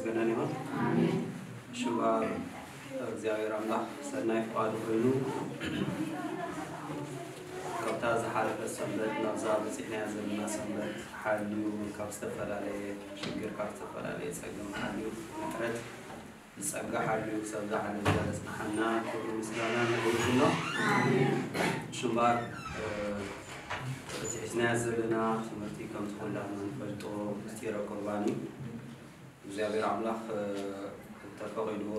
ገናን ይኹን። ሽባ እግዚኣብሔር ኣምላኽ ሰናይ ፍቓዱ ኮይኑ ካብታ ዝሓለፈት ሰንበት ናብዛ በፂሕናያ ዘለና ሰንበት ሓልዩ፣ ካብ ዝተፈላለየ ሽግር፣ ካብ ዝተፈላለየ ፀገም ሓልዩ፣ ምሕረት ብጸጋ ሓልዩ ክሳብ ዝዓለም ዘጽንሓና ክብሪ ምስጋና ንብርክኖ። ሽምባር እቲ ሒዝናያ ዘለና ትምህርቲ ከምቲ ኩላትና ንፈልጦ ምስጢረ ቁርባን እዩ። እግዚኣብሔር ኣምላኽ እንተፈቒድዎ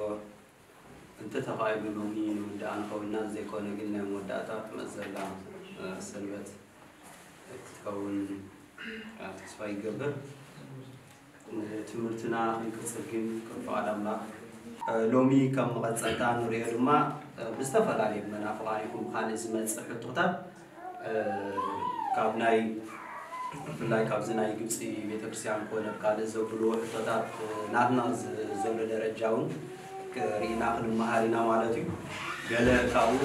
እንተተኻኢሉ ሎሚ ንውድኣ ንኸውንና ዘይኮነ ግን ናይ መወዳእታ ትመጽእ ዘላ ሰንበት ክትከውን ተስፋ ይገብር። ንትምህርትና ክንቅጽል ግን ከም ፍቓድ ኣምላኽ ሎሚ ከም መቐጸልታ ንሪኦ ድማ ብዝተፈላለየ መናፍቓን ይኹን ብኻልእ ዝመጽእ ሕቶታት ካብ ናይ ብፍላይ ካብዚ ናይ ግብፂ ቤተክርስትያን ኮነ ካልእ ዘብልዎ ሕቶታት ናትና ዘሎ ደረጃ እውን ርኢና ክንመሃር ኢና ማለት እዩ። ገለ ካብኡ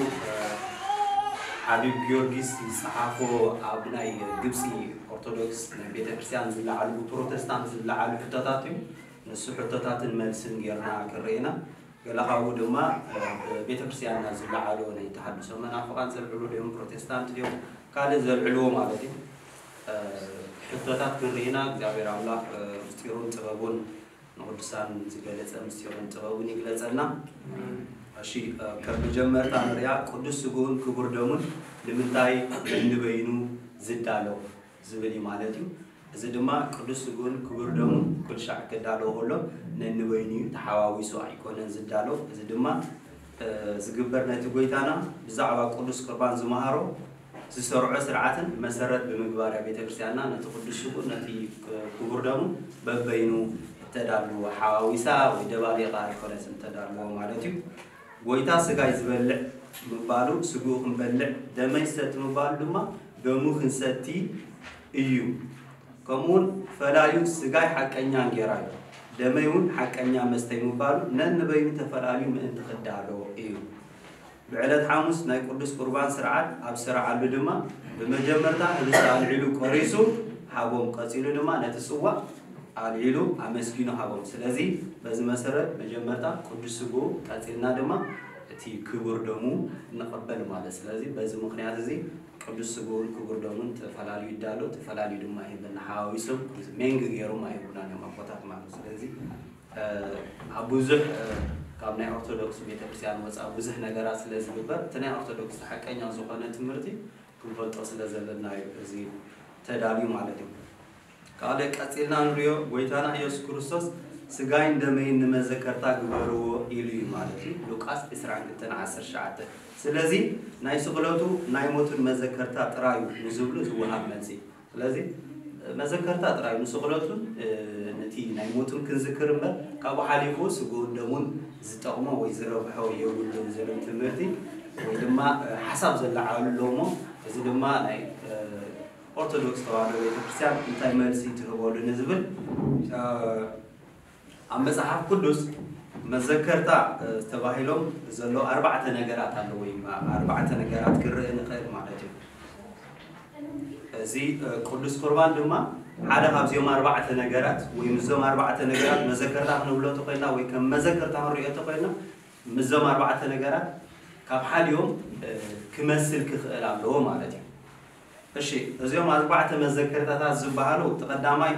ሓቢብ ጊዮርጊስ ዝፀሓፎ ኣብ ናይ ግብፂ ኦርቶዶክስ ናይ ቤተክርስትያን ዝለዓሉ ብፕሮቴስታንት ዝለዓሉ ሕቶታት እዩ። ንሱ ሕቶታትን መልስን ጌርና ክንርኢ ኢና። ገለ ካብኡ ድማ ቤተክርስትያንና ዝለዓሉ ናይ ተሃድሶ መናፍቓን ዘልዕሉ ድዮም ፕሮቴስታንት ድዮም ካልእ ዘልዕልዎ ማለት እዩ። ሕቶታት ክንርኢ ኢና። እግዚኣብሔር ኣምላኽ ምስጢሩን ጥበቡን ንቅዱሳን ዝገለጸ ምስጢሩን ጥበቡን ይግለጸልና። እሺ፣ ከም መጀመርታ ንሪኣ ቅዱስ ስግኡን ክቡር ደሙን ንምንታይ ነንበይኑ ዝዳሎ ዝብል እዩ ማለት እዩ። እዚ ድማ ቅዱስ ስግኡን ክቡር ደሙን ኩልሻዕ ክዳሎ ከሎ ነንበይኑ እዩ፣ ተሓዋዊሱ ኣይኮነን ዝዳሎ። እዚ ድማ ዝግበር ነቲ ጎይታና ብዛዕባ ቅዱስ ቁርባን ዝመሃሮ ዝሰርዖ ስርዓትን መሰረት ብምግባር እያ ቤተ ክርስቲያንና ነቲ ቅዱስ ስግኡን ነቲ ክቡር ደሙን በበይኑ እተዳሉ፣ ሓዋዊሳ ወይ ደባሊቓ ኣይኮነትን እተዳልዎ ማለት እዩ። ጎይታ ስጋይ ዝበልዕ ምባሉ ስግኡ ክንበልዕ፣ ደመይ ዝሰቲ ምባሉ ድማ ደሙ ክንሰቲ እዩ። ከምኡውን ፈላዩ ስጋይ ሓቀኛ እንጌራ እዩ፣ ደመይ እውን ሓቀኛ መስተይ ምባሉ ነንበይኑ ተፈላልዩ ምእንቲ ክዳሎ እዩ። ብዕለት ሓሙስ ናይ ቅዱስ ቁርባን ስርዓት ኣብ ዝሰርዓሉ ድማ ብመጀመርታ ህብስቲ ኣልዒሉ ቆሪሱ ሃቦም፣ ቀጺሉ ድማ ነቲ ጽዋእ ኣልዒሉ ኣመስጊኑ ሃቦም። ስለዚ በዚ መሰረት መጀመርታ ቅዱስ ስግኡ ቀጺልና ድማ እቲ ክቡር ደሙ ንቐበል ማለት። ስለዚ በዚ ምኽንያት እዚ ቅዱስ ስግኡን ክቡር ደሙን ተፈላልዩ ይዳሎ፣ ተፈላልዩ ድማ ይህበና። ሓዋዊሶም ሜንግ ገይሮም ኣይህቡናን እዮም ኣቦታት ማለት። ስለዚ ኣብ ብዙሕ ካብ ናይ ኦርቶዶክስ ቤተክርስትያን ወፃ ብዙሕ ነገራት ስለ ዝግበር እቲ ናይ ኦርቶዶክስ ሓቀኛ ዝኾነ ትምህርቲ ክንፈልጦ ስለ ዘለና እዩ እዚ ተዳልዩ ማለት እዩ። ካልእ ቀፂልና ንሪኦ ጎይታና ኢየሱስ ክርስቶስ ስጋይን ደመይን ንመዘከርታ ግበርዎ ኢሉ እዩ ማለት እዩ። ሉቃስ ዕስራን ክልተን ዓሰርተ ትሽዓተ። ስለዚ ናይ ስቕለቱ ናይ ሞቱን መዘከርታ ጥራይ እዩ ንዝብሉ ዝወሃብ መልሲ። ስለዚ መዘከርታ ጥራይ ንስቕለቱን ነቲ ናይ ሞቱን ክንዝክር እምበር ካብኡ ሓሊፉ ስግኡን ደሙን ዝጠቕሞ ወይ ዝረብሖ የብሉን ዝብል ትምህርቲ ወይ ድማ ሓሳብ ዘለዓሉ ኣሎ እሞ እዚ ድማ ናይ ኦርቶዶክስ ተዋህዶ ቤተክርስትያን እንታይ መልሲ ትህበሉ ንዝብል ኣብ መጽሓፍ ቅዱስ መዘከርታ ተባሂሎም ዘሎ ኣርባዕተ ነገራት ኣለዎ። ኣርባዕተ ነገራት ክርእ ንኽእል ማለት እዩ። እዚ ቅዱስ ቁርባን ድማ ሓደ ካብዚኦም ኣርባዕተ ነገራት ወይ ምስዞም ኣርባዕተ ነገራት መዘከርታ ክንብሎ ተኮይና ወይ ከም መዘከርታ ክንሪኦ ተኮይና ምስዞም ኣርባዕተ ነገራት ካብ ሓዲኦም ክመስል ክኽእል ኣለዎ ማለት እዩ። እሺ፣ እዚኦም ኣርባዕተ መዘከርታታት ዝበሃሉ እቲ ቀዳማይ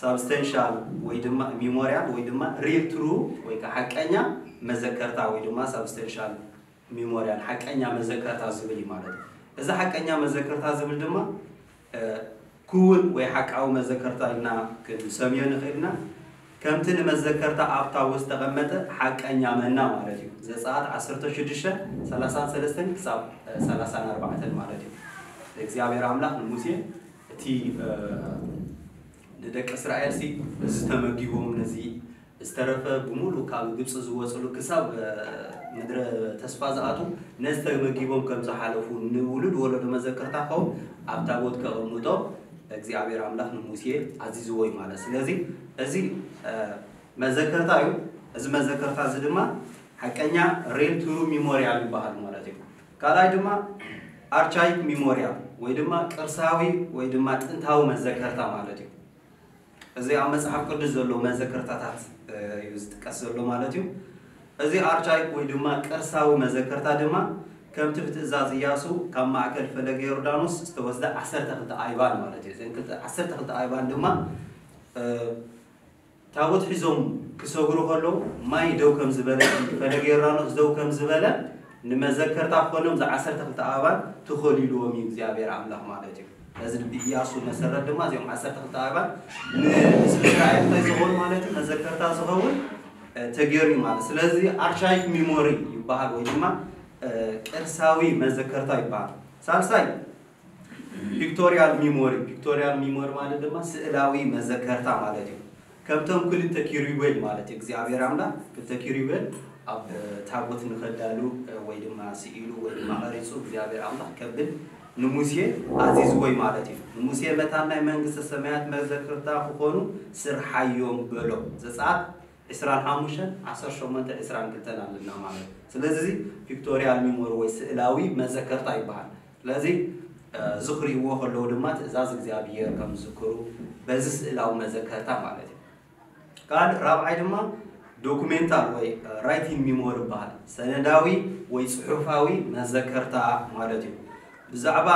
ሳብስተንሻል ወይ ድማ ሚሞሪያል ወይ ድማ ሪል ትሩ ወይ ከዓ ሓቀኛ መዘከርታ ወይ ድማ ሳብስተንሻል ሚሞሪያል ሓቀኛ መዘከርታ ዝብል እዩ ማለት እዩ። እዚ ሓቀኛ መዘከርታ ዝብል ድማ ክውን ወይ ሓቃዊ መዘከርታ ኢልና ክንሰምዮ ንኽእልና ከምቲ ንመዘከርታ ኣብ ታቦት ዝተቐመጠ ሓቀኛ መና ማለት እዩ። ዘጸኣት ዓሰርተ ሽዱሽተ ሰላሳን ሰለስተን ክሳብ ሰላሳን ኣርባዕተን ማለት እዩ። እግዚኣብሔር ኣምላኽ ንሙሴ እቲ ንደቂ እስራኤል ሲ እዚ ተመጊቦም ነዚ ዝተረፈ ብምሉእ ካብ ግብፂ ዝወፅሉ ክሳብ ምድረ ተስፋ ዝኣቱ ነዚ ተመጊቦም ከም ዝሓለፉ ንውሉድ ወለዶ መዘከርታ ክኸውን ኣብ ታቦት ከቐምጦ እግዚኣብሔር ኣምላኽ ንሙሴ ኣዚዝዎ እዩ ማለት። ስለዚ እዚ መዘከርታ እዩ። እዚ መዘከርታ እዚ ድማ ሓቀኛ ሪል ትሩ ሚሞሪያል ይበሃል ማለት እዩ። ካልኣይ ድማ ኣርቻይክ ሚሞሪያል ወይ ድማ ቅርሳዊ ወይ ድማ ጥንታዊ መዘከርታ ማለት እዩ። እዚ ኣብ መጽሓፍ ቅዱስ ዘሎ መዘከርታታት እዩ ዝጥቀስ ዘሎ ማለት እዩ። እዚ ኣርቻይክ ወይ ድማ ቅርሳዊ መዘከርታ ድማ ከምቲ ብትእዛዝ ኢያሱ ካብ ማእከል ፈለገ ዮርዳኖስ ዝተወስደ ዓሰርተ ክልተ ኣይባን ማለት እዩ። እዘን ክልተ- ዓሰርተ ክልተ ኣይባን ድማ ታቦት ሒዞም ክሰግሩ ከለዉ ማይ ደው ከም ዝበለ፣ ፈለገ ዮርዳኖስ ደው ከም ዝበለ ንመዘከርታ ክኾኖም እዚ ዓሰርተ ክልተ ኣእባን ተኸሊልዎም እዩ እግዚኣብሔር ኣምላኽ ማለት እዩ። ነዚ ብኢያሱ መሰረት ድማ እዚኦም ዓሰርተ ክልተ ኣእባን ንህዝቢ እስራኤል እንታይ ዝኾኑ ማለት እዩ? መዘከርታ ዝኸውን ተገይሩ እዩ ማለት። ስለዚ ኣርቻይክ ሚሞሪ ይበሃል ወይ ድማ ቅርሳዊ መዘከርታ ይበሃል። ሳልሳይ ፒክቶሪያል ሚሞሪ። ፒክቶሪያል ሚሞሪ ማለት ድማ ስእላዊ መዘከርታ ማለት እዩ። ከምቶም ክልተ ኪሩቤል ማለት እዩ። እግዚኣብሔር ኣምላኽ ክልተ ኪሩቤል ኣብ ታቦት ንኸዳሉ ወይ ድማ ስኢሉ ወይ ድማ ቀሪጹ እግዚኣብሔር ኣምላኽ ከብል ንሙሴ ኣዚዝዎ እዩ ማለት እዩ። ንሙሴ መታን ናይ መንግስተ ሰማያት መዘክርታ ክኾኑ ስርሓዮም በሎ። ዘጸኣት ዕስራን ሓሙሽተን ዓሰርተ ሸሞንተ ዕስራን ክልተን ኣለና ማለት እዩ። ስለዚ እዚ ፒክቶሪያል ሚሞሪ ወይ ስእላዊ መዘከርታ ይበሃል። ስለዚ እዚ ክርእይዎ ከለዉ ድማ ትእዛዝ እግዚኣብሔር ከም ዝዝክሩ በዚ ስእላዊ መዘከርታ ማለት እዩ። ካልእ ራብዓይ ድማ ዶኩሜንታል ወይ ራይቲንግ ሚሞሪ ይበሃል። ሰነዳዊ ወይ ጽሑፋዊ መዘከርታ ማለት እዩ። ብዛዕባ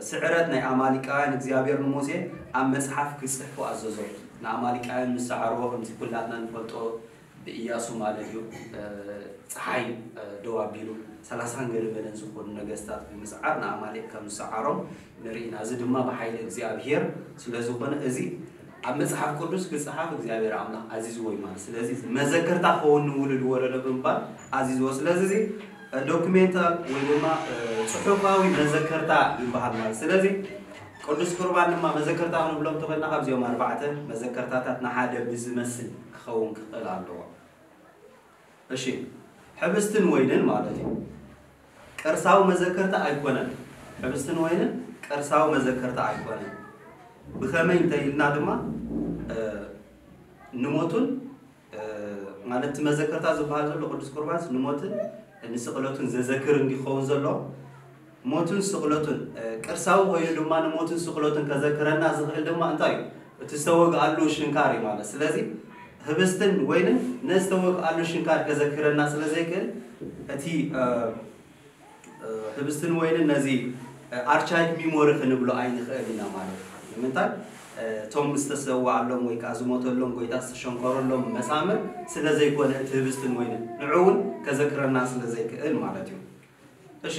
ስዕረት ናይ ኣማሊቃውያን እግዚኣብሔር ንሙሴ ኣብ መጽሓፍ ክጽሕፉ ኣዘዞ። ንኣማሊቃውያን ምስ ሰዓርዎ ከምዚ ኩላትና ንፈልጦ ብኢያሱ ማለት እዩ። ጸሓይ ደው ኣቢሉ ሰላሳን ገለ መለን ዝኾኑ ነገስታት ብምስዓር ንኣማሌቅ ከም ዝሰዓሮም ንርኢ ኢና። እዚ ድማ ብሓይሊ እግዚኣብሔር ስለ ዝኾነ እዚ ኣብ መጽሓፍ ቅዱስ ክጽሓፍ እግዚኣብሔር ኣምላኽ ኣዚዝዎ እዩ ማለት። ስለዚ መዘከርታ ክኸውን ንውሉድ ወለዶ ብምባል ኣዚዝዎ። ስለዚ እዚ ዶክሜንታል ወይ ድማ ጽሑፋዊ መዘከርታ ይበሃል ማለት። ስለዚ ቅዱስ ቁርባን ድማ መዘከርታ ክንብሎም ተኾይና ካብዚኦም ኣርባዕተ መዘከርታታት ንሓደ ብዝመስል ክኸውን ክኽእል ኣለዎ። እሺ፣ ሕብስትን ወይንን ማለት እዩ። ቅርሳዊ መዘከርታ ኣይኮነን። ሕብስትን ወይንን ቅርሳዊ መዘከርታ ኣይኮነን። ብኸመይ እንተኢልና ድማ ንሞቱን ማለት እቲ መዘከርታ ዝበሃል ዘሎ ቅዱስ ቁርባንስ ንሞትን ንስቕለቱን ዘዘክር እንዲኸውን ዘሎ ሞቱን ስቕለቱን ቅርሳዊ ኮይኑ ድማ ንሞቱን ስቕለቱን ከዘክረና ዝኽእል ድማ እንታይ እዩ? እቲ ዝተወግኣሉ ሽንካር እዩ ማለት። ስለዚ ህብስትን ወይንን ነዚ ዝተወግኣሉ ሽንካር ከዘክረና ስለ ዘይክእል እቲ ህብስትን ወይንን ነዚ ኣርቻይክ ሚሞሪ ክንብሎ ኣይንኽእል ኢና ማለት እዩ። ንምንታይ? እቶም ዝተሰዋኣሎም ወይ ከዓ ዝሞተሎም ጎይታ ዝተሸንከረሎም መሳምር ስለ ዘይኮነ እቲ ህብስትን ወይንን ንዑ እውን ከዘክረና ስለ ዘይክእል ማለት እዩ። እሺ፣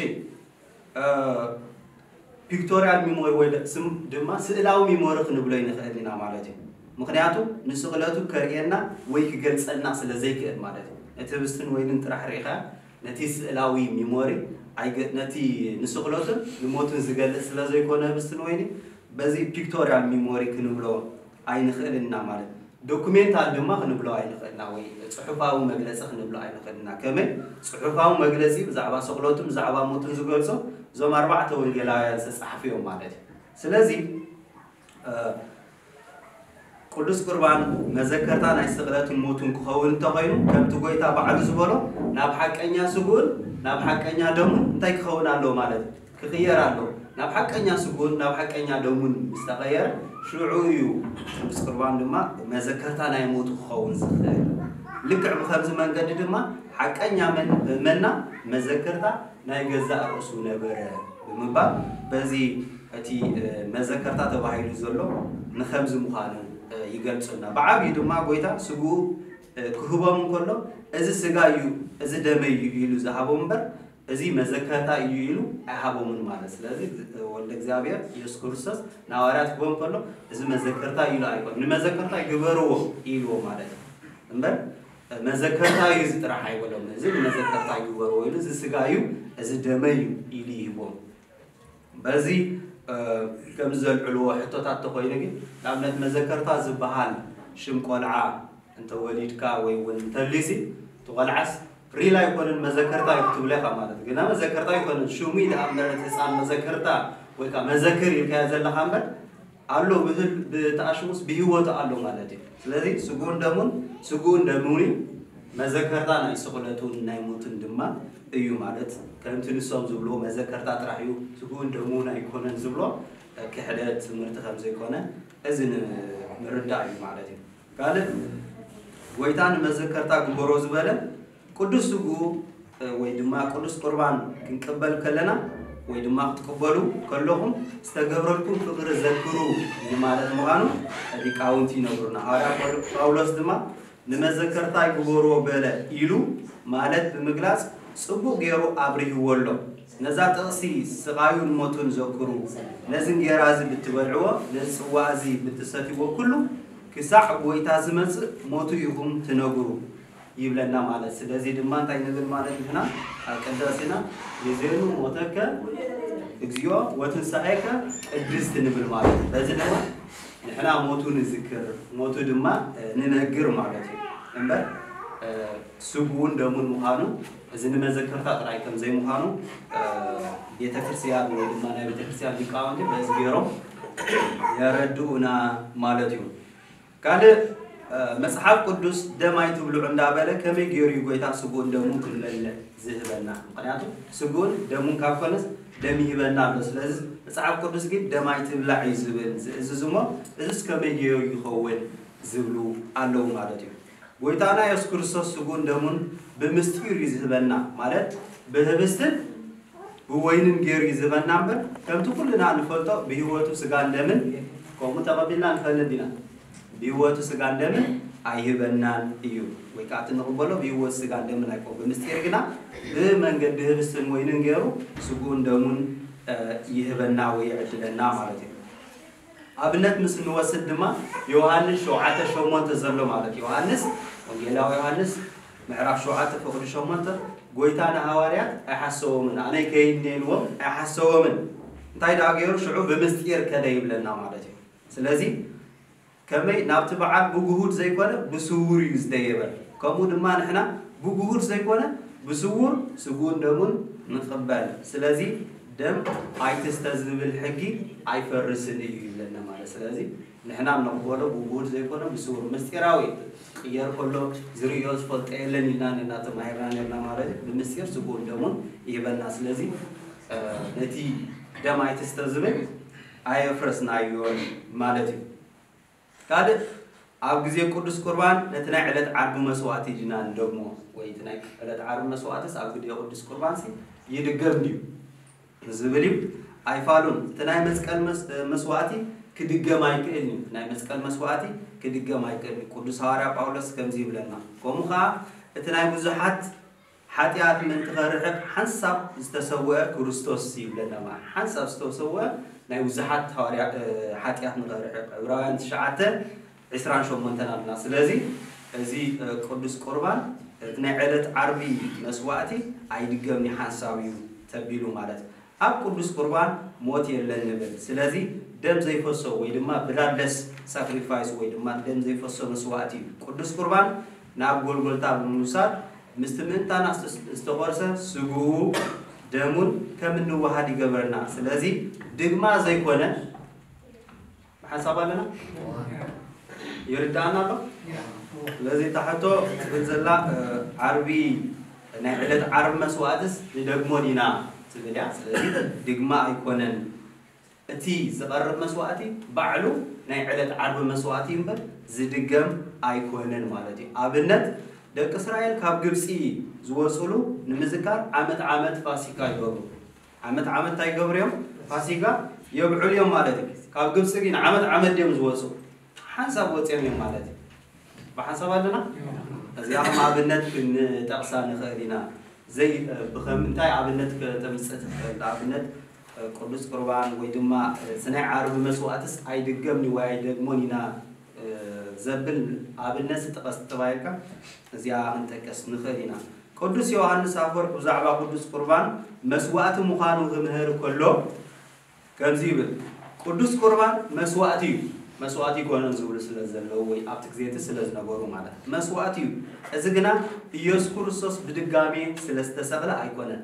ፒክቶሪያል ሚሞሪ ወይ ድማ ስእላዊ ሚሞሪ ክንብሎ ይንኽእል ኢና ማለት እዩ። ምኽንያቱ ንስቕለቱ ከርእየና ወይ ክገልጸልና ስለ ዘይክእል ማለት እዩ። ነቲ ህብስትን ወይንን ጥራሕ ርኢኻ ነቲ ስእላዊ ሚሞሪ ነቲ ንስቕለቱን ንሞቱን ዝገልጽ ስለ ዘይኮነ ህብስትን ወይኒ በዚ ፒክቶሪያል ሚሞሪ ክንብሎ ኣይንኽእል ኢና ማለት እዩ። ዶኩሜንታል ድማ ክንብሎ ኣይንኽእልና ወይ ጽሑፋዊ መግለጺ ክንብሎ ኣይንኽእልና። ከመይ ጽሑፋዊ መግለጺ ብዛዕባ ስቕለቱን ብዛዕባ ሞቱን ዝገልጾ እዞም ኣርባዕተ ወንጌላውያን ዝተጻሕፉ እዮም ማለት እዩ። ስለዚ ቅዱስ ቁርባን መዘከርታ ናይ ስቕለትን ሞቱን ክኸውን እንተኾይኑ ከምቲ ጎይታ ባዕሉ ዝበሎ ናብ ሓቀኛ ስግኡን ናብ ሓቀኛ ደሙን እንታይ ክኸውን ኣለዎ ማለት እዩ? ክቕየር ኣለዎ። ናብ ሓቀኛ ስግኡን ናብ ሓቀኛ ደሙን ምስ ተቐየረ ሽዑ እዩ ቅዱስ ቁርባን ድማ መዘከርታ ናይ ሞቱ ክኸውን ዝኽእል። ልክዕ ብኸምዚ መንገዲ ድማ ሓቀኛ መና መዘከርታ ናይ ገዛእ ርእሱ ነበረ ብምባል በዚ እቲ መዘከርታ ተባሂሉ ዘሎ ንኸምዚ ምዃኑ ይገልጹና። ብዓብዩ ድማ ጎይታ ስግኡ ክህቦም እንከሎ እዚ ስጋ እዩ፣ እዚ ደመይ እዩ ኢሉ ዝሃቦም እምበር እዚ መዘከርታ እዩ ኢሉ ኣይሃቦምን ማለት። ስለዚ ወልደ እግዚኣብሔር ኢየሱስ ክርስቶስ ንሃዋርያት ክህቦም ከሎ እዚ መዘከርታ ኢሉ ኣይኮን፣ ንመዘከርታ ግበርዎ ኢልዎ ማለት እዩ እምበር መዘከርታ እዩ እዚ ጥራሕ ኣይበሎም። እዚ ንመዘከርታ ግበርዎ ኢሉ እዚ ስጋ እዩ፣ እዚ ደመይ እዩ ኢሉ ይህቦም። በዚ ከምዚ ዘልዕልዎ ሕቶታት ተኾይኑ ግን ንኣብነት መዘከርታ ዝበሃል ሽም ቆልዓ እንተወሊድካ ወይ እውን እንተልዩሲ እቲ ቆልዓስ ሪል ኣይኮነን መዘከርታ እዩ ክትብሎ ኢኻ ማለት ግና መዘከርታ ኣይኮነን ሽሙ ኢለ ኣብ መረት ህፃን መዘከርታ ወይ ከዓ መዘክር ኢልካዮ ዘለኻ እምበር ኣሎ ብህል ብተኣሽሙስ ብህይወቱ ኣሎ ማለት እዩ። ስለዚ ስጉኡን ደሙን ስጉኡን ደሙን እዩ መዘከርታ ናይ ስቕለቱን ናይ ሞቱን ድማ እዩ ማለት ከምቲ ንሶም ዝብልዎ መዘከርታ ጥራሕ እዩ ስጉኡን ደሙን ኣይኮነን ዝብሎ ክሕደት ትምህርቲ ከም ዘይኮነ እዚ ን- ምርዳእ እዩ ማለት እዩ። ካልእ ጎይታ ንመዘከርታ ግበሮ ዝበለ ቅዱስ ስግኡ ወይ ድማ ቅዱስ ቁርባን ክንቅበል ከለና ወይ ድማ ክትቅበሉ ከለኹም ዝተገብረልኩም ፍቕሪ ዘክሩ ማለት ምዃኑ ሊቃውንቲ ይነግሩና። ሃዋርያ ጳውሎስ ድማ ንመዘከርታይ ግበርዎ በለ ኢሉ ማለት ብምግላጽ ጽቡቕ ገይሩ ኣብሪህዎ ኣሎ። ነዛ ጥቕሲ ስቓዩን ሞቱን ዘክሩ፣ ነዚ እንጌራ እዚ ብትበልዕዎ፣ ነዚ ጽዋ እዚ ብትሰትይዎ ኩሉ ክሳዕ ጎይታ ዝመጽእ ሞቱ ኢኹም ትነግሩ ይብለና ማለት። ስለዚ ድማ እንታይ ንብል ማለት ንሕና ኣብ ቅዳሴና ግዜኑ ሞተከ እግዚኦ ወትንሳኤከ ቅድስት ንብል ማለት እዩ። በዚ ድማ ንሕና ሞቱ ንዝክር ሞቱ ድማ ንነግር ማለት እዩ እምበር ስግኡን ደሙን ምዃኑ እዚ ንመዘከርታ ጥራይ ከም ዘይምዃኑ ቤተክርስትያን ወይ ድማ ናይ ቤተክርስትያን ሊቃውንቲ በዚ ገይሮም የረድኡና ማለት እዩ። ካልእ መጽሓፍ ቅዱስ ደም ኣይትብልዑ እንዳበለ ከመይ ገይሩ እዩ ጎይታ ስግኡን ደሙን ክንበልዕ ዝህበና? ምክንያቱ ስግኡን ደሙን ካብ ኮነስ ደም ይህበና ኣሎ። ስለዚ መጽሓፍ ቅዱስ ግን ደም ኣይትብላዕ እዩ ዝብል ዝእዝዝ እሞ እዚስ ከመይ ገይሩ ይኸውን ዝብሉ ኣለዉ ማለት እዩ። ጎይታና የሱስ ክርስቶስ ስግኡን ደሙን ብምስጢር እዩ ዝህበና ማለት ብህብስትን ብወይንን ገይሩ እዩ ዝህበና እምበር ከምቲ ኩልና ንፈልጦ ብህይወቱ ስጋን ደምን ከምኡ ተቐቢልና ንፈልጥ ኢና። ብህይወቱ ስጋን ደምን ኣይህበናን እዩ ወይ ከዓ እቲ ንቕበሎ ብህይወቱ ስጋን ደምን ኣይኮን ብምስጢር ግና ብመንገዲ ህብስትን ወይንን ገይሩ ስግኡን ደሙን ይህበና ወይ ይዕድለና ማለት እዩ። ኣብነት ምስ እንወስድ ድማ ዮሃንስ ሸውዓተ ሸሞንተ ዘሎ ማለት ዮሃንስ ወንጌላዊ ዮሃንስ ምዕራፍ ሸውዓተ ፍቕዲ ሸሞንተ ጎይታ ንሃዋርያት ኣይሓሰቦምን ኣነ ከይድ ነልዎም ኣይሓሰቦምን እንታይ ደኣ ገይሩ ሽዑ ብምስጢር ከደ ይብለና ማለት እዩ። ስለዚ ከመይ ናብቲ በዓል ብግሁድ ዘይኮነ ብስውር እዩ ዝደየበ። ከምኡ ድማ ንሕና ብግሁድ ዘይኮነ ብስውር ስግኡን ደሙን ንቕበል። ስለዚ ደም ኣይትስተ ዝብል ሕጊ ኣይፈርስን እዩ ይብለና ማለት። ስለዚ ንሕና ንቕበሎ ብግሁድ ዘይኮነ ብስውር ምስጢራዊ ክቕየር ከሎ ዝርእዮ ዝፈልጦ የለን ኢልና ነና ተማሂርና ነርና ማለት እዩ። ብምስጢር ስግኡን ደሙን ይህበና። ስለዚ ነቲ ደም ኣይትስተ ዝብል ኣየፍረስናዮን ማለት እዩ። ካልእ ኣብ ግዜ ቅዱስ ቁርባን ነቲ ናይ ዕለት ዓርቢ መስዋእቲ ዲና ንደግሞ ወይ እቲ ናይ ዕለት ዓርቢ መስዋእትስ ኣብ ግዜ ቅዱስ ቁርባንሲ ይድገም ድዩ ዝብል እዩ። ኣይፋሉን እቲ ናይ መስቀል መስዋእቲ ክድገም ኣይክእል እዩ። ናይ መስቀል መስዋእቲ ክድገም ኣይክእል እዩ። ቅዱስ ሃዋርያ ጳውሎስ ከምዚ ይብለና። ከምኡ ከዓ እቲ ናይ ብዙሓት ሓጢኣት ምእንቲ ኸርሕቕ ሓንሳብ ዝተሰወአ ክርስቶስ ይብለና ማለት ሓንሳብ ዝተሰወአ ናይ ብዙሓት ሃዋርያ ሓጢኣት ንኸርሕቕ ዕብራውያን ትሽዓተ ዕስራን ሸሞንተን ኣለና። ስለዚ እዚ ቅዱስ ቁርባን እቲ ናይ ዕለት ዓርቢ መስዋእቲ ኣይድገምኒ ሓንሳብ እዩ ተቢሉ ማለት ኣብ ቅዱስ ቁርባን ሞት የለን ንብል። ስለዚ ደም ዘይፈሶ ወይ ድማ ብላድለስ ሳክሪፋይስ ወይ ድማ ደም ዘይፈሶ መስዋእቲ እዩ። ቅዱስ ቁርባን ናብ ጎልጎልታ ብምውሳድ ምስቲ ምእንታና ዝተቆርሰ ስግኡ ደሙን ከም እንወሃድ ይገብረና። ስለዚ ድግማ ዘይኮነ ብሓንሳብ ኣለና ይርዳእና ኣሎ። ስለዚ ታሕቶ ትብል ዘላ ዓርቢ ናይ ዕለት ዓርቢ መስዋእትስ ንደግሞ ዲና ትብል እያ። ስለዚ ድግማ ኣይኮነን እቲ ዝቐርብ መስዋእቲ ባዕሉ ናይ ዕለት ዓርቢ መስዋእቲ እምበር ዝድገም ኣይኮነን ማለት እዩ። ኣብነት ደቂ እስራኤል ካብ ግብፂ ዝወፅሉ ንምዝካር ዓመት ዓመት ፋሲካ ይገብሩ። ዓመት ዓመት እንታይ ይገብሩ እዮም? ፋሲካ የብዕሉ እዮም ማለት እዩ። ካብ ግብፂ ግን ዓመት ዓመት ድዮም ዝወፁ? ሓንሳብ ወፂኦም እዮም ማለት እዩ። ብሓንሳብ ኣለና እዚኣ ከም ኣብነት ክንጠቕሳ ንኽእል ኢና። ዘይ ብኸም እንታይ ኣብነት ከተምፅእ ትኽእል? ኣብነት ቅዱስ ቁርባን ወይ ድማ ስናይ ዓርቢ መስዋእትስ ኣይድገምኒ ወይ ኣይደግሞን ኢና ዘብል ኣብነት ስጠቐስ ተባሂልካ እዚኣ ክንጠቅስ ንኽእል ኢና። ቅዱስ ዮሃንስ ኣፈወርቅ ብዛዕባ ቅዱስ ቁርባን መስዋእቲ ምዃኑ ክምህር ከሎ ከምዚ ይብል፣ ቅዱስ ቁርባን መስዋእቲ እዩ። መስዋእቲ ይኮነን ዝብሉ ስለ ዘለዉ ወይ ኣብቲ ግዜቲ ስለ ዝነበሩ ማለት መስዋእቲ እዩ። እዚ ግና ኢየሱስ ክርስቶስ ብድጋሜ ስለ ዝተሰቕለ ኣይኮነን።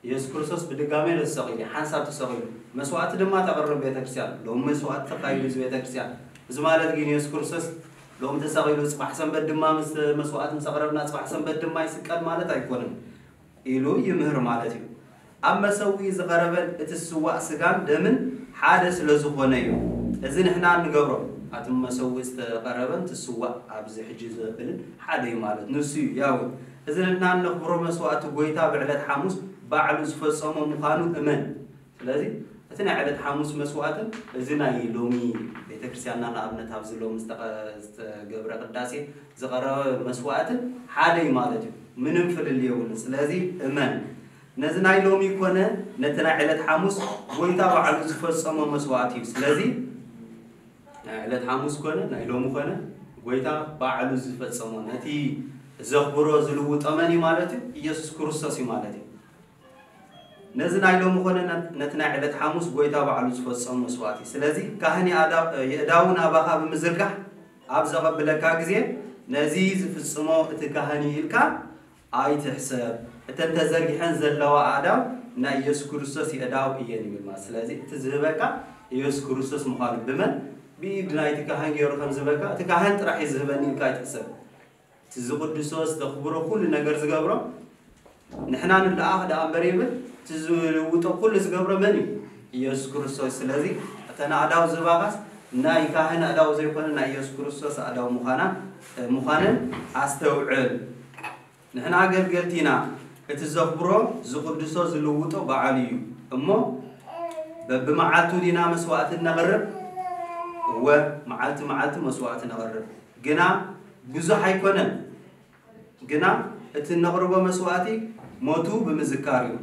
ኢየሱስ ክርስቶስ ብድጋሜ ተሰቒሉ፣ ሓንሳብ ተሰቒሉ። መስዋእቲ ድማ ተቕርብ ቤተክርስትያን። ሎሚ መስዋእቲ ተካይዱ እዚ ቤተክርስትያን። እዚ ማለት ግን ኢየሱስ ክርስቶስ ሎሚ ተሰቒሉ፣ ጽባሕ ሰንበት ድማ ምስ መስዋእቲ ምስ ኣቕረብና፣ ጽባሕ ሰንበት ድማ ይስቀል ማለት ኣይኮነን ኢሉ ይምህር ማለት እዩ። ኣብ መሰውኢ ዝቐረበን እቲ ዝስዋእ ስጋን ደምን ሓደ ስለ ዝኾነ እዩ። እዚ ንሕና እንገብሮ ኣቲ መሰዊ ዝተቐረበን ትስዋእ ኣብዚ ሕጂ ዘብልን ሓደ እዩ ማለት ንሱ እዩ። ያው እዚ ንሕና እነኽብሮ መስዋዕቲ ጎይታ ብዕለት ሓሙስ ባዕሉ ዝፈጸሞ ምዃኑ እመን። ስለዚ እቲ ናይ ዕለት ሓሙስ መስዋዕትን እዚ ናይ ሎሚ ቤተክርስትያንና ንኣብነት ኣብዚ ሎሚ ዝተቐ-፣ ዝተገብረ ቅዳሴ ዝቐረበ መስዋዕትን ሓደ እዩ ማለት እዩ። ምንም ፍልል የብሉን። ስለዚ እመን። ነዚ ናይ ሎሚ ኮነ ነቲ ናይ ዕለት ሓሙስ ጎይታ ባዕሉ ዝፈጸሞ መስዋዕቲ እዩ። ስለዚ ናይ ዕለት ሓሙስ ኮነ ናይ ሎሚ ኮነ ጎይታ ባዕሉ ዝፈጸሞ ነቲ ዘኽብሮ ዝልውጦ መን እዩ ማለት እዩ? ኢየሱስ ክርስቶስ እዩ ማለት እዩ። ነዚ ናይ ሎሚ ኮነ ነ-፣ ነቲ ናይ ዕለት ሓሙስ ጎይታ ባዕሉ ዝፈጸሞ መስዋዕቲ። ስለዚ ካህን የኣዳ-፣ የእዳዉ ናባኻ ብምዝርጋሕ ኣብ ዘቐብለካ ግዜ ነዚ ዝፍጽሞ እቲ ካህን እዩ ኢልካ ኣይትሕሰብ። እተን ተዘርጊሐን ዘለዋ ኣእዳው ናይ ኢየሱስ ክርስቶስ የእዳው እየን ይብል ማለት። ስለዚ እቲ ዝህበካ ኢየሱስ ክርስቶስ ምዃኑ ብመን? ብኢድ ናይቲ ካህን ገይሩ ከም ዝህበካ፣ እቲ ካህን ጥራሕ እዩ ዝህበኒ ኢልካ ኣይትሕሰብ። እቲ ዝቕድሶ፣ ዝተኽብሮ፣ ኩሉ ነገር ዝገብሮ ንሕና ንለኣኽ ደኣ እምበር ይብል፣ እቲ ዝልውጦ ኩሉ ዝገብሮ መን እዩ? ኢየሱስ ክርስቶስ። ስለዚ እተን ኣእዳው ዝህባኻስ ናይ ካህን ኣእዳው ዘይኮነ ናይ ኢየሱስ ክርስቶስ ኣእዳው ምዃና፣ ምዃነን ኣስተውዕል። ንሕና ኣገልገልቲ ኢና። እቲ ዘኽብሮ ዝቕድሶ ዝልውጦ በዓሉ እዩ። እሞ በብመዓልቱ ዲና መስዋዕቲ እነቕርብ? እወ፣ መዓልቲ መዓልቲ መስዋዕቲ ነቕርብ። ግና ብዙሕ ኣይኮነን። ግና እቲ እነቕርቦ መስዋዕቲ ሞቱ ብምዝካር እዩ።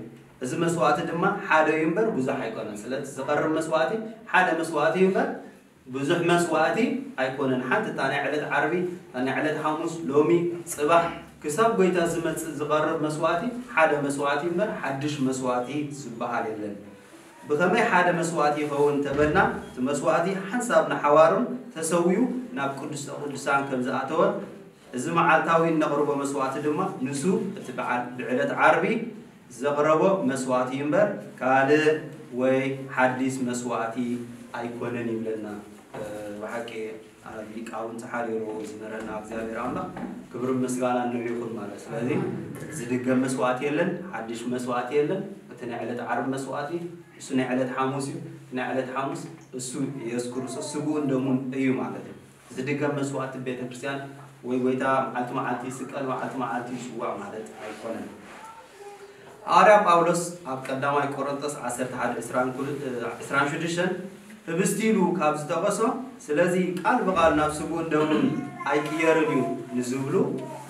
እዚ መስዋዕቲ ድማ ሓደ እዩ እምበር ብዙሕ ኣይኮነን። ስለዚ ዝቐርብ መስዋዕቲ ሓደ መስዋዕቲ እዩ እምበር ብዙሕ መስዋዕቲ ኣይኮነን። ሓንቲ እታ ናይ ዕለት ዓርቢ፣ እታ ናይ ዕለት ሓሙስ፣ ሎሚ፣ ጽባሕ፣ ክሳብ ጎይታ ዝመጽእ ዝቐርብ መስዋዕቲ ሓደ መስዋዕቲ እምበር ሓድሽ መስዋዕቲ ዝበሃል የለን። ብኸመይ ሓደ መስዋዕቲ ይኸውን እንተበልና፣ እቲ መስዋዕቲ ሓንሳብ ንሓዋሩን ተሰዊኡ ናብ ቅድስተ ቅዱሳን ከም ዝኣተወ፣ እዚ መዓልታዊ እነቕርቦ መስዋዕቲ ድማ ንሱ እቲ በዓል ብዕለት ዓርቢ ዘቕረቦ መስዋዕቲ እዩ እምበር ካልእ ወይ ሓዲስ መስዋዕቲ ኣይኮነን ይብለና። እ፣ ብሓቂ ኣብ ሊቃውንቲ ሓሪሩ ዝመረና እግዚኣብሔር ኣምላኽ ክብርን ምስጋናን ንዑ ይኹን ማለት። ስለዚ ዝድገም መስዋዕቲ የለን፣ ሓድሽ መስዋዕቲ የለን። እቲ ናይ ዕለት ዓርቢ መስዋዕቲ እሱ ናይ ዕለት ሓሙስ እዩ። እቲ ናይ ዕለት ሓሙስ እሱ ኢየሱስ ክርስቶስ ስግኡን ደሙን እዩ ማለት እዩ። ዝድገም መስዋዕቲ ቤተ ክርስቲያን ወይ ጎይታ መዓልቲ መዓልቲ ይስቀል፣ መዓልቲ መዓልቲ ይስዋዕ ማለት ኣይኮነን። ሃዋርያ ጳውሎስ ኣብ ቀዳማይ ቆሮንቶስ ዓሰርተ ሓደ ዕስራን ኩል-፣ ዕስራን ሽዱሽተን ህብስቲ ኢሉ ካብ ዝጠቐሶ፣ ስለዚ ቃል ብቓል ናብ ስግኡን ደሙን ኣይቅየርን እዩ ንዝብሉ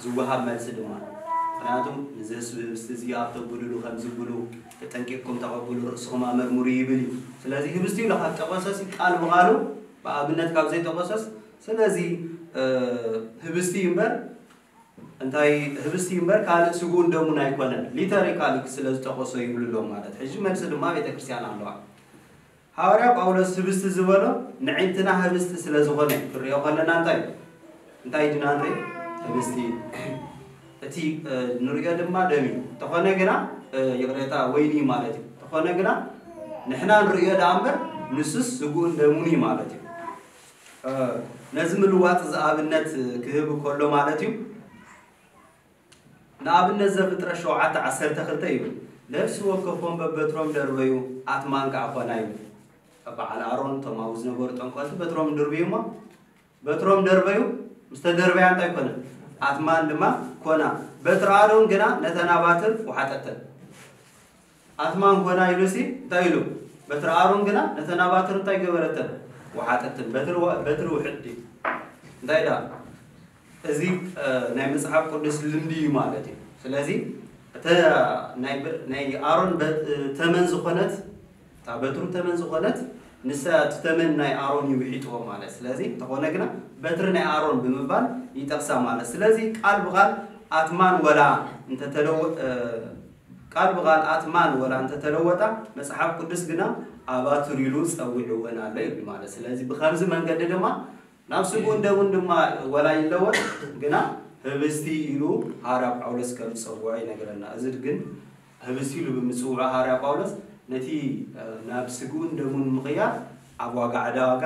ዝወሃብ መልሲ ድማ፣ ምኽንያቱም ንዚ ህብስቲ እዚ ኣብ ተብልሉ ከም ዝብሉ ተጠንቂቕኩም ተቐብሉ፣ ርእስኹም ኣመርምሩ ይብል እዩ። ስለዚ ህብስቲ ኢሉ ካብ ጠቐሰ ሲ ቃል ብቓሉ ብኣብነት ካብ ዘይጠቐሰስ፣ ስለዚ፣ እ፣ ህብስቲ እምበር፣ እንታይ ህብስቲ እምበር ካልእ ስግኡን ደሙን ኣይኮነን፣ ሊተሪካሊ ስለ ዝጠቐሶ ይብሉ ኣለዉ ማለት። ሕጂ መልሲ ድማ ቤተ ክርስቲያን ኣለዋ። ሃዋርያ ጳውሎስ ህብስቲ ዝበሎ ንዒንትና ህብስቲ ስለ ዝኾነ ክንሪኦ ከለና እንታይ እዩ? እንታይ ድና ንርኢ? ህብስቲ። እቲ፣ እ፣ ንሪኦ ድማ ደም እዩ። ተኾነ ግና፣ እ፣ ይቕሬታ፣ ወይኒ ማለት እዩ። ተኾነ ግና ንሕና ንርእዮ ደኣ እምበር ንሱስ ስግኡን ደሙን እዩ ማለት እዩ። እ፣ ነዚ ምልዋጥ እዚ ኣብነት ክህብ ከሎ ማለት እዩ። ንኣብነት ዘፍጥረት ሸውዓተ ዓሰርተ ክልተ እዩ። ነፍሲ ወከፎም በበትሮም ደርበዩ፣ ኣትማን ከዓ ኮና እዩ። በዓል ኣሮን፣ እቶም ኣብኡ ዝነበሩ ጠንቆልቲ በትሮም ድርብዩ እሞ፣ በትሮም ደርበዩ፣ ምስ ተደርበያ እንታይ ኮነ? ኣትማን ድማ ኮና። በትሪ ኣሮን ግና ነተን ኣባትር ወሓጠተን። ኣትማን ኮና ኢሉሲ እንታይ ኢሉ? በትሪ ኣሮን ግና ነተን ኣባትር እንታይ ገበረተን? ወሓጠተን። በትሪ ወ-፣ በትሪ ውሕጥ ድዩ? እንታይ ደኣ? እዚ፣ እ፣ ናይ መጽሓፍ ቅዱስ ልምዲ እዩ ማለት እዩ። ስለዚ እተ ናይ በ-፣ ናይ ኣሮን በ-፣ ተመን ዝኾነት፣ እታ በትሩ ተመን ዝኾነት፣ ንሳ እቲ ተመን ናይ ኣሮን እዩ ውሒጥዎ ማለት። ስለዚ እንተኾነ ግና በትሪ ናይ ኣሮን ብምባል ይጠቕሳ ማለት። ስለዚ ቃል ብቓል ኣትማን ወላ እንተተለወ-፣ እ፣ ቃል ብቓል ኣትማን ወላ እንተተለወጣ፣ መጽሓፍ ቅዱስ ግና ኣባትር ኢሉ ጸዊዕወን ኣሎ ይብል ማለት። ስለዚ ብኸምዚ መንገዲ ድማ ናብ ስግኡን ደሙን ድማ ወላ ይለወጥ፣ ግና ህብስቲ ኢሉ ሃዋርያ ጳውሎስ ከም ዝጸውዖ ይነግረና። እዚ ግን ህብስቲ ኢሉ ብምጽውዖ ሃዋርያ ጳውሎስ ነቲ፣ እ፣ ናብ ስግኡን ደሙን ምቕያር ኣብ ዋጋ ዕዳ ዋጋ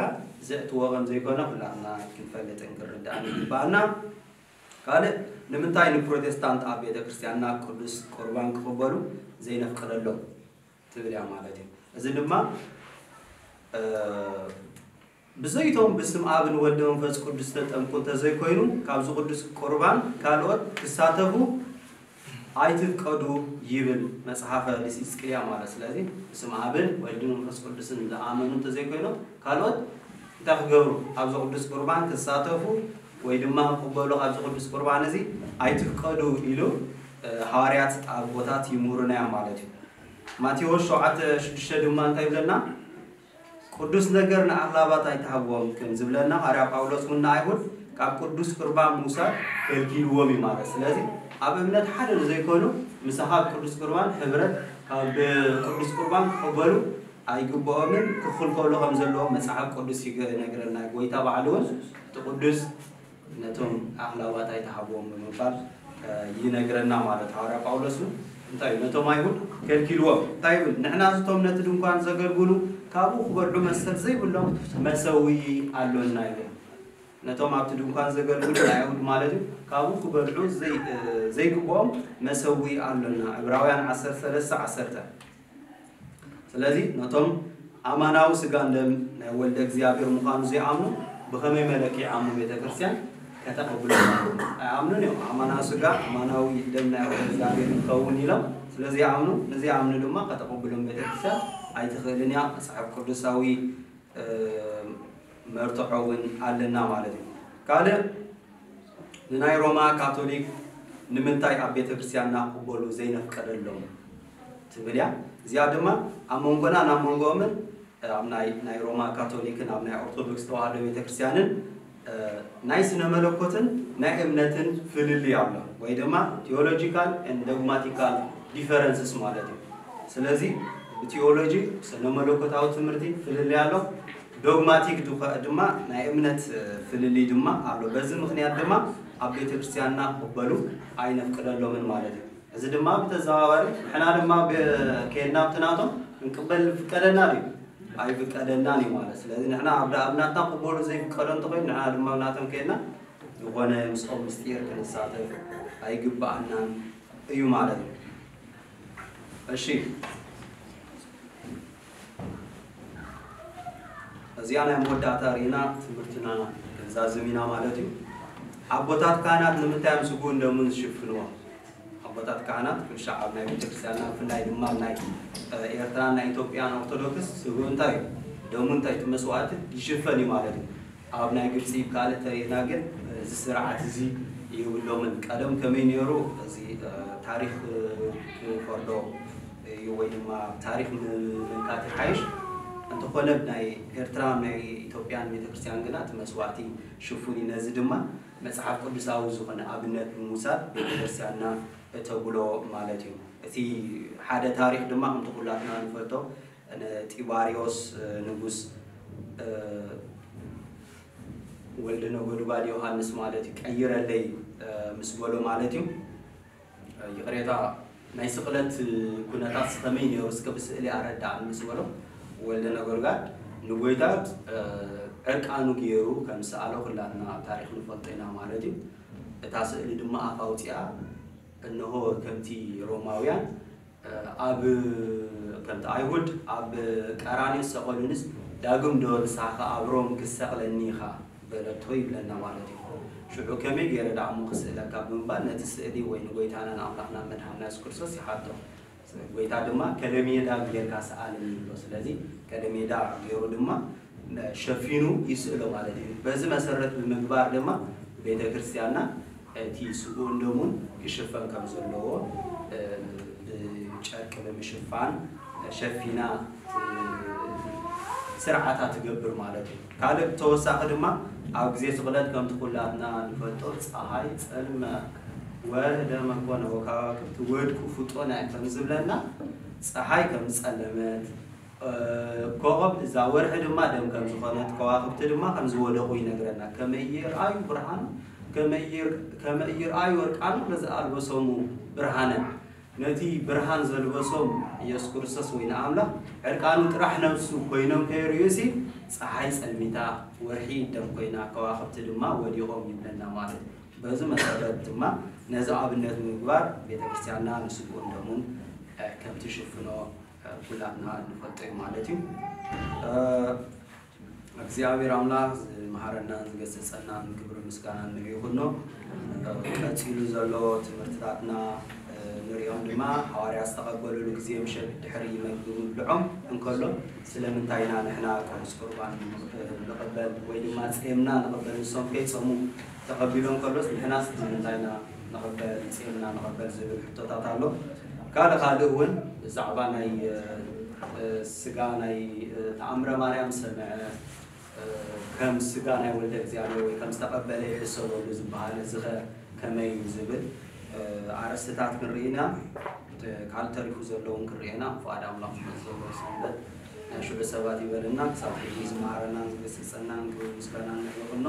ዘእትዎ ከም ዘይኮነ ኩላትና ክንፈልጥን ክንርዳእን ይግባኣና። ካልእ ንምንታይ ንፕሮቴስታንት ኣብ ቤተ ክርስቲያንና ቅዱስ ቁርባን ክቕበሉ ዘይነፍቅደሎም ትብል እያ ማለት እዩ። እዚ ድማ፣ እ፣ ብዘይቶም ብስም ኣብን ወልድ መንፈስ ቅዱስ ተጠምቁ እንተዘይኮይኑ ካብዚ ቅዱስ ቁርባን ካልኦት ክሳተፉ ኣይትፍቀዱ ይብል መጽሓፈ ሊሲስቅልያ ማለት። ስለዚ ብስም ኣብን ወልድ መንፈስ ቅዱስን ዝኣመኑ እንተዘይኮይኖም ካልኦት እንታይ ክገብሩ? ኣብዚ ቅዱስ ቁርባን ክሳተፉ ወይ ድማ ክቕበሉ ኣብዚ ቅዱስ ቁርባን እዚ ኣይትፍቀዱ ኢሉ፣ እ፣ ሃዋርያት ኣቦታት ይምህሩና እዮም ማለት እዩ። ማቴዎስ ሸውዓተ ሽዱሽተ ድማ እንታይ ይብለና? ቅዱስ ነገር ንኣኽላባት ኣይትሃብዎም ከም ዝብለና፣ ሃዋርያ ጳውሎስ እውን ንኣይሁድ ካብ ቅዱስ ቁርባን ምውሳድ ከልኪልዎም እዩ ማለት። ስለዚ ኣብ እምነት ሓደ ንዘይኮኑ ምሳኻ ኣብ ቅዱስ ቁርባን ሕብረት ካብ ቅዱስ ቁርባን ክቕበሉ ኣይግብኦምን፣ ክኽልከሉ ከም ዘለዎም መጽሓፍ ቅዱስ ይገ-፣ ይነግረና። ጎይታ ባዕሉ እውን እቲ ቅዱስ ነቶም ኣኽላባት ኣይትሃብዎም ብምባል፣ እ፣ ይነግረና ማለት። ሃዋርያ ጳውሎስ እውን እንታይ እዩ? ነቶም ኣይሁድ ከልኪልዎም። እንታይ ይብል? ንሕና እቶም ነቲ ድንኳን ዘገልግሉ ካብኡ ክበልዑ መሰል ዘይብሎም መሰዊ ኣሎና ይብል። ነቶም ኣብቲ ድንኳን ዘገልግሉ ናይ ኣይሁድ ማለት እዩ፣ ካብኡ ክበልዑ ዘይ-፣ እ፣ ዘይግብኦም መሰዊ ኣሎና። ዕብራውያን ዓሰርተ ሰለስተ ዓሰርተ። ስለዚ ነቶም ኣማናዊ ስጋን ደም ናይ ወልደ እግዚኣብሔር ምዃኑ ዘይኣምኑ ብኸመይ መለክዒ ኣሞ ቤተ ክርስቲያን ከተቐብሎም? ኣይኣምኑን እዮም። ኣማናዊ ስጋ፣ ኣማናዊ ደም ናይ ወልደ እግዚኣብሔር ይኸውን ኢሎም ስለ ዘይኣምኑ፣ ንዘይኣምኑ ድማ ከተቐብሎም ቤተ ክርስቲያን ኣይትኽእልን እያ። መጽሓፍ ቅዱሳዊ፣ እ፣ መርትዖ እውን ኣለና ማለት እዩ። ካልእ ንናይ ሮማ ካቶሊክ ንምንታይ ኣብ ቤተ ክርስቲያንና ክቕበሉ ዘይነፍቀደሎም ትብል እያ። እዚኣ ድማ ኣብ መንጎና ናብ መንጎኦምን ኣብ ናይ፣ ናይ ሮማ ካቶሊክን ኣብ ናይ ኦርቶዶክስ ተዋህዶ ቤተ ክርስቲያንን፣ እ፣ ናይ ስነ መለኮትን ናይ እምነትን ፍልልይ ኣሎ፣ ወይ ድማ theological and dogmatical differences ማለት እዩ። ስለዚ ብቲዮሎጂ ስነ መለኮታዊ ትምህርቲ ፍልልይ ኣሎ። ዶግማቲክ ድኸ-፣ ድማ ናይ እምነት፣ እ፣ ፍልልይ ድማ ኣሎ። በዚ ምኽንያት ድማ ኣብ ቤተ ክርስቲያንና ክቕበሉ ኣይነፍቅደሎምን ማለት እዩ። እዚ ድማ ብተዘዋዋሪ ንሕና ድማ ብ-፣ ከድና ኣብቲ ናቶም ክንቅበል ይፍቀደና ድዩ? ኣይፍቀደናን እዩ ማለት። ስለዚ ንሕና ኣብ፣ ኣብ ናትና ክቕበሉ ዘይፍቀዶ እንተኾይኑ ንሕና ድማ ኣብ ናቶም ከድና ዝኾነ ምስኦም ምስጢር ክንሳተፍ ኣይግብኣናን እዩ ማለት እዩ። እሺ፣ እዚኣ ናይ መወዳእታ ርኢና ትምህርትና ክንዛዝም ኢና ማለት እዩ። ኣቦታት ካህናት ንምንታይ እዮም ስግኡን ደሙን ዝሽፍንዎ? ኣቦታት ካህናት ኩሉ ሻዕ ኣብ ናይ ቤተክርስትያንና፣ ብፍላይ ድማ ኣብ ናይ፣ እ፣ ኤርትራን ናይ ኢትዮጵያን ኦርቶዶክስ ስግኡ እንታይ እዩ? ደሙ እንታይ እቲ መስዋዕቲ ይሽፈን እዩ ማለት እዩ። ኣብ ናይ ግብፂ ካልእ ተሪእና ግን፣ እ፣ እዚ ስርዓት እዚ የብሎምን። ቀደም ከመይ ነይሩ? እዚ፣ እ፣ ታሪኽ፣ እ፣ ክፈርዶ እዩ ወይ ድማ ታሪኽ ም-፣ ምንካት ይሓይሽ። እንተኾነ ናይ ኤርትራ ናይ ኢትዮጵያን ቤተክርስትያን ግና እቲ መስዋዕቲ ሽፉን እዩ። ነዚ ድማ መጽሓፍ ቅዱሳዊ ዝኾነ ኣብነት ብምውሳድ ቤተክርስትያንና እተብሎ ማለት እዩ። እቲ ሓደ ታሪኽ ድማ ከምቲ ኩላትና ንፈልጦ፣ ን-፣ ጢባርዮስ፣ እ፣ ንጉስ፣ እ፣ ወልደ ነጎድጓድ ዮሃንስ ማለት እዩ፣ ቀይረለይ፣ እ፣ ምስ በሎ ማለት እዩ። እ፣ ይቕሬታ፣ ናይ ስቕለት ኩነታት ከመይ ነይሩ እስከ ብስእሊ ኣረዳእኒ ምስ በሎ፣ ወልደ ነጎድጓድ ንጎይታ፣ እ፣ ዕርቃኑ ገይሩ ከም ዝሰኣሎ ኩላትና ኣብ ታሪኽ ንፈልጦ ኢና ማለት እዩ። እታ ስእሊ ድማ ኣፍ ኣውፂኣ፣ እንሆ ከምቲ ሮማውያን ኣብ፣ ከምቲ ኣይሁድ ኣብ ቀራንዮ ዝሰቐሉንስ፣ ዳግም ዶ ንስኻ ኣብ ሮም ክትሰቕለኒ ኢኻ በለቶ ይብለና ማለት እዩ። ሽዑ ከመይ ገይረ ደኣ እሞ ክስእለካ ብምባል ነቲ ስእሊ ወይ ንጎይታና ንኣምላኽና መድሓንና የሱስ ክርስቶስ ይሓቶ። ጎይታ ድማ ከለሜዳ ጌርካ ሰኣለኒ ይብሎ። ስለዚ ከለሜዳ ገይሩ ድማ ሸፊኑ ይስእሎ ማለት እዩ። በዚ መሰረት ብምግባር ድማ ቤተ ክርስቲያንና እቲ ስግኡን ደሙን ክሽፈን ከም ዘለዎ፣ እ፣ ብጨርቂ ብምሽፋን ሸፊና፣ እ፣ ስርዓታ ትገብር ማለት እዩ። ካልእ ተወሳኺ ድማ ኣብ ግዜ ስቕለት ከምቲ ኩላትና ንፈልጦ ፀሃይ ጸልመ ወርህ ደመ ኮነ ወከዋክብቲ ወድቁ ፍጡነ ከም ዝብለና ፀሃይ ከም ዝጸለመት፣ እ፣ ኮኸብ እዛ ወርሒ ድማ ደም ከም ዝኾነት፣ ከዋኽብቲ ድማ ከም ዝወደቑ ይነግረና። ከመ ኢይርኣዩ ብርሃኑ፣ ከመ ኢይር-፣ ከመ ኢይርኣዩ እርቃኑ ለዘኣልበሶሙ ብርሃነ። ነቲ ብርሃን ዘልበሶም ኢየሱስ ክርስቶስ ወይ ንኣምላኽ ዕርቃኑ ጥራሕ ነብሱ ኮይኖም ከይርእዩሲ፣ ፀሓይ ጸልሚታ፣ ወርሒ ደም ኮይና፣ ከዋኽብቲ ድማ ወዲቖም ይብለና ማለት እዩ። በዚ መሰረት ድማ ነዚ ኣብነት ምግባር ቤተክርስትያንና ንስግኡን ደሙን፣ እ፣ ከም ትሽፍኖ፣ እ፣ ኩላትና ንፈልጦ እዩ ማለት እዩ። እ፣ እግዚኣብሔር ኣምላኽ ዝመሃረናን ዝገሰጸናን ክብሪ ምስጋና ንዕኡ ይኹኖ። ቀጺሉ ዘሎ ትምህርትታትና ንሪኦም ድማ፣ ሃዋርያ ዝተቐበሉሉ ግዜ ምሸት ድሕሪ መግቢ ምብልዖም እንከሎ፣ ስለምንታይ ኢና ንሕና ቅዱስ ቁርባን ንቕበል ወይ ድማ ጼምና ንቕበል፣ ንሶም ከይጸሙ ተቐቢሎም ከሎስ ንሕናስ ንምንታይ ኢና ንቕበል፣ ጼምና ንቕበል ዝብል ሕቶታት ኣሎ። ካልእ ካልእ እውን ብዛዕባ ናይ ስጋ ናይ ተኣምረ ማርያም ሰምዐ፣ ከም ስጋ ናይ ወልደ እግዚኣብሔር ወይ ከም ዝተቐበለ ይሕሰበሉ ዝበሃል፣ እዚ ኸ ከመይ እዩ ዝብል ኣርእስትታት ክንርኢ ኢና። ካልእ ተሪፉ ዘለውን ክንርኢ ኢና። ፍቓድ ኣምላኽ ዝመጽእ ዘሎ ሰንበት ናይ ሽዑ ሰባት ይበልና። ክሳብ ሕጂ ዝመሃረናን ዝገሰጸናን ክብሪ ምስጋና ንዕኡ ይኹኖ።